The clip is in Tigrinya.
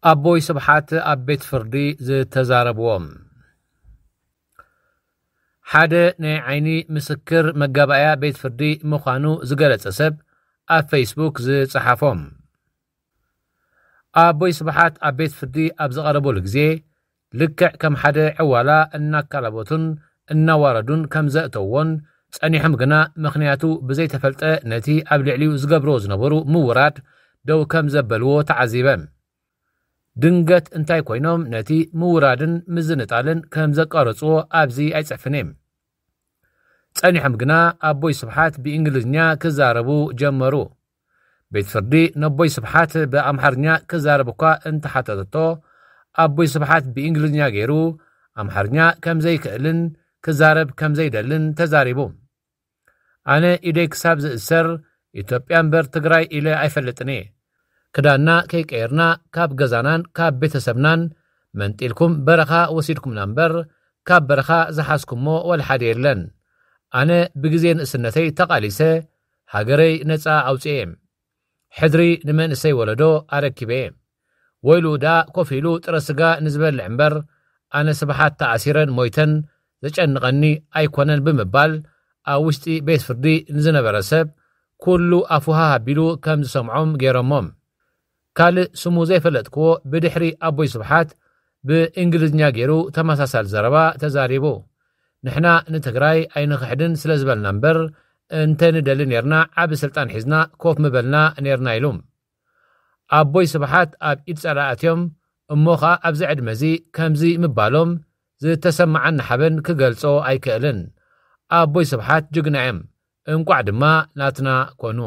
ኣቦይ ስብሓት ኣብ ቤት ፍርዲ ዝተዛረብዎም። ሓደ ናይ ዓይኒ ምስክር መጋባእያ ቤት ፍርዲ ምዃኑ ዝገለጸ ሰብ ኣብ ፌስቡክ ዝጸሓፎም። ኣቦይ ስብሓት ኣብ ቤት ፍርዲ ኣብ ዝቐረበሉ ግዜ፣ ልክዕ ከም ሓደ ዕዋላ እናካላበቱን እናዋረዱን ከም ዘእተውዎን ጸኒሖም ግና ምኽንያቱ ብዘይተፈልጠ ነቲ ኣብ ልዕሊኡ ዝገብርዎ ዝነበሩ ምውራድ ደው ከም ዘበልዎ ተዓዚበ። ድንገት እንታይ ኮይኖም ነቲ ምውራድን ምዝንጣልን ከም ዘቋረጽዎ ኣብዚ ኣይጽሕፍን እየ። ጸኒሖም ግና ኣቦይ ስብሓት ብእንግሊዝኛ ክዛረቡ ጀመሩ። ቤት ፍርዲ ነቦይ ስብሓት ብኣምሓርኛ ክዛረብ እኳ እንተሓተተቶ፣ ኣቦይ ስብሓት ብእንግሊዝኛ ገይሩ ኣምሓርኛ ከም ዘይክእልን ክዛረብ ከም ዘይደልን ተዛሪቡ። ኣነ ኢደይ ክሳብ ዝእሰር ኢትዮጵያ እምበር ትግራይ ኢለ ኣይፈልጥን እየ። ክዳንና ከይቀየርና ካብ ገዛናን ካብ ቤተሰብናን መንጢልኩም በረኻ ወሲድኩምና እምበር ካብ በረኻ ዝሓዝኩሞ ወላ ሓደ የለን። ኣነ ብግዜ ንእስነተይ ተቓሊሰ ሃገረይ ነጻ ኣውፅኤ። ሕድሪ ንመንእሰይ ወለዶ ኣረኪበ። ወይሉ ደኣ ኮፍ ኢሉ ጥረ ስጋ ንዝበልዕ እምበር ኣነ ስብሓት ተኣሲረን ሞይተን ዘጨንቐኒ ኣይኮነን ብምባል ኣብ ውሽጢ ቤት ፍርዲ ንዝነበረ ሰብ ኩሉ ኣፉሃ ኣቢሉ ከም ዝሰምዖም ገይሮሞም። ካልእ ስሙ ዘይፈለጥክዎ ብድሕሪ ኣቦይ ስብሓት ብእንግሊዝኛ ገይሩ ተመሳሳሊ ዘረባ ተዛሪቡ። ንሕና ንትግራይ ኣይንኽሕድን ስለ ዝበልና እምበር እንተ ንደሊ ኔርና ዓቢ ስልጣን ሒዝና ኮፍ ምበልና ኔርና ኢሉ። ኣቦይ ስብሓት ኣብ ኢድ ጸላእትዮም እሞ ኸኣ ኣብዚ ዕድመ እዚ ከምዚ ምባሎም ዝተሰማዓኒ ሓበን ክገልጾ ኣይክእልን። ኣቦይ ስብሓት ጅግና እዮም። እንቋዕ ድማ ናትና ኮኑ።